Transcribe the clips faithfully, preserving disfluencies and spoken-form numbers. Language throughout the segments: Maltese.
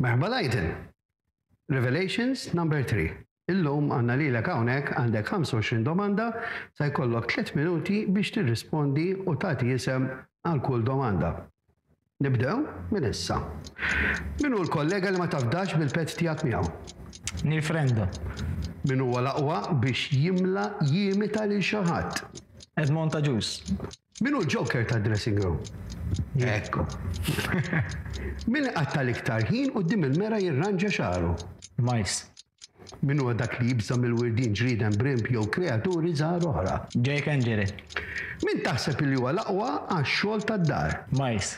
Merħba, Lydon. Revelations number three. Illum għandna lilek hawnhekk, għandek ħamsa u għoxrin domanda, sa jkollok tliet minuti biex tirrispondi u tagħti isem għal kull domanda. Nibdew minn issa. Min hu l-kollega li ma tafdax bil-pet tiegħek miegħu? Neil Frendo. Min huwa l-aqwa biex jimla jimita lil xi ħadd? Edmond Agius. Min hu l-joker ta' dressing room? Ekku. Min qatta' l-iktar ħin quddiem il-mera jirranġa xagħru? Miles. Min huwa dak li jibża mill-wirdin, ġrieden, brimb jew kreaturi żgħar oħra? Jake Angeli. Min taħseb li huwa l-aqwa għax-xogħol tad-dar? Miles.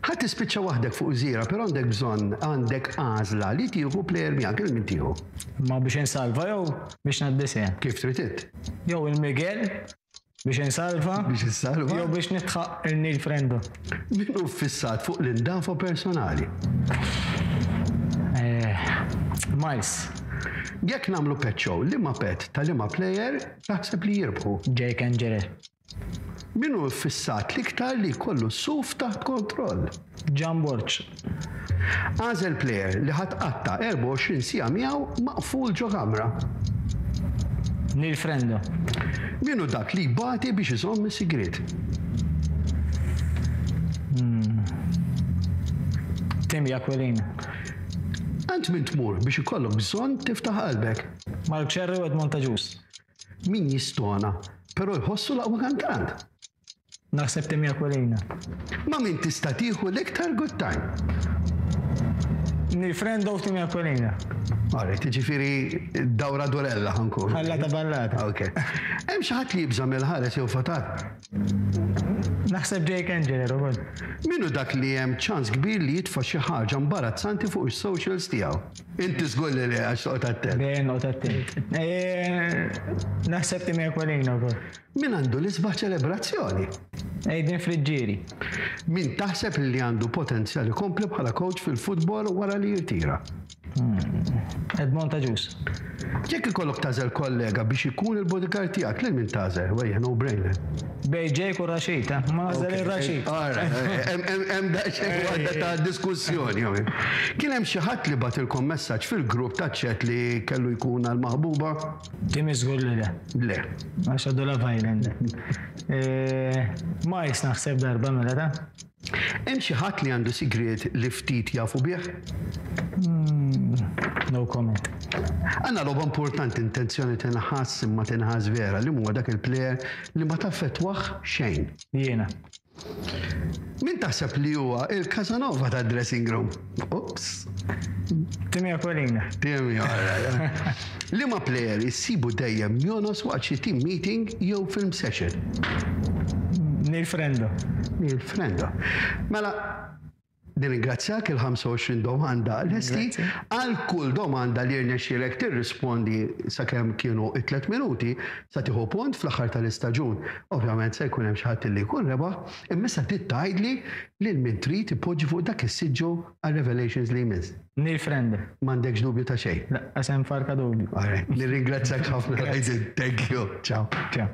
Ħa tispiċċa waħdek fuq gżira, però għandek bżonn, għandek għażla li tieħu player miegħek, lil min tieħu? Ma biex insalva jew biex ngħaddi sehem? Kif trid int? Jew il-Miguel biex insalva. Biex insalva? Jew biex nidħaq il-Neil Frendo. Min hu fissat fuq l-indafa personali? Eh, Miles. Jekk nagħmlu pet show, liema pet ta' liema player taħseb li jirbħu? Jake Angeli. Min hu fissat l-iktar li jkollu suf taħt kontroll? John Borg. Agħżel player li ħa tqatta' erbgħa u għoxrin siegħa miegħu maqful ġo kamra. Neil Frendo. Min hu dak li jbati biex iżomm is-sigriet? Hmm. Tim Aquilina. Għand min tmur biex ikollok bżonn tiftaħ qalbek? Mark Scerri u Edmond Agius. Min jistona, però jħossu l-aqwa kantant? Naħseb Tim Aquilina. Ma' min tista' tieħu l-iktar good time? Neil Frendo u Tim Aquilina. Alright, ġifieri dawra durella ħa nkun. Ħallata ballata. Ok. Hemm xi ħadd li jibża' mill-ħares jew fatat? Naħseb Jake Angeli, Robert. Min hu dak li hemm ċans kbir li jitfa' xi ħaġa imbarazzanti fuq is-socials tiegħu? Inti żgur li le, għax toqgħod attent. Dejjem noqgħod attent. Eh, Naħseb Tim Aquilina wkoll. Min għandu l-isbaħ ċelebrazzjoni? Aiden Friggieri. Min taħseb li għandu potenzjal ikompli bħala coach fil-futbol wara li jirtira? Edmond Agius. Jekk ikollok tagħżel kollega biex ikun il-bodyguard tiegħek, lil min tagħżel? Wejja, no brainer. Bejn Jake u Rashid, eh? Ma nagħżel il-Rashid. Hemm daqsxejn waħda ta' diskussjoni. Kien hemm xi ħadd li bagħtilkom messaġġ fil-grupp ta' chat li kellu jkun għal maħbuba? Tim żgur li le. Le. Għax għadu Love Island. Eh, Miles naħseb darba mela ta' Hemm xi ħadd li għandu sigriet li ftit jafu bih? No comment. Għandna logħba importanti, intenzjoni tinħass imma tinħass vera, li huwa dak il-player li ma taffettwah xejn? Jiena. Min taħseb li huwa il-Casanova ta' dressing room? Ups. Timmy Aquilina. Timmy, alright. Liema player issibu dejjem jonos waqt xi team meeting jew film session? Neil Frendo. Neil Frendo. Mela, nirringrazzjak, il-ħamsa u għoxrin domanda lesti. Grazzi. Għal kull domanda li rnexxielek tirrispondi sakemm kienu it-tliet minuti, sa tieħu punt. Fl-aħħar tal-istaġun. Ovvjament se jkun hemm xi ħadd li jkun rebaħ, imma issa trid tgħidli lil min trid ipoġġi fuq dak is-siġġu għal Revelations li jmiss. Neil Frendo. M'għandekx dubju ta' xejn? Lanqas hemm farka dubju. Alright, nirringrazzjak ħafna. Grazzi. Thank you. Ciao. Ciao.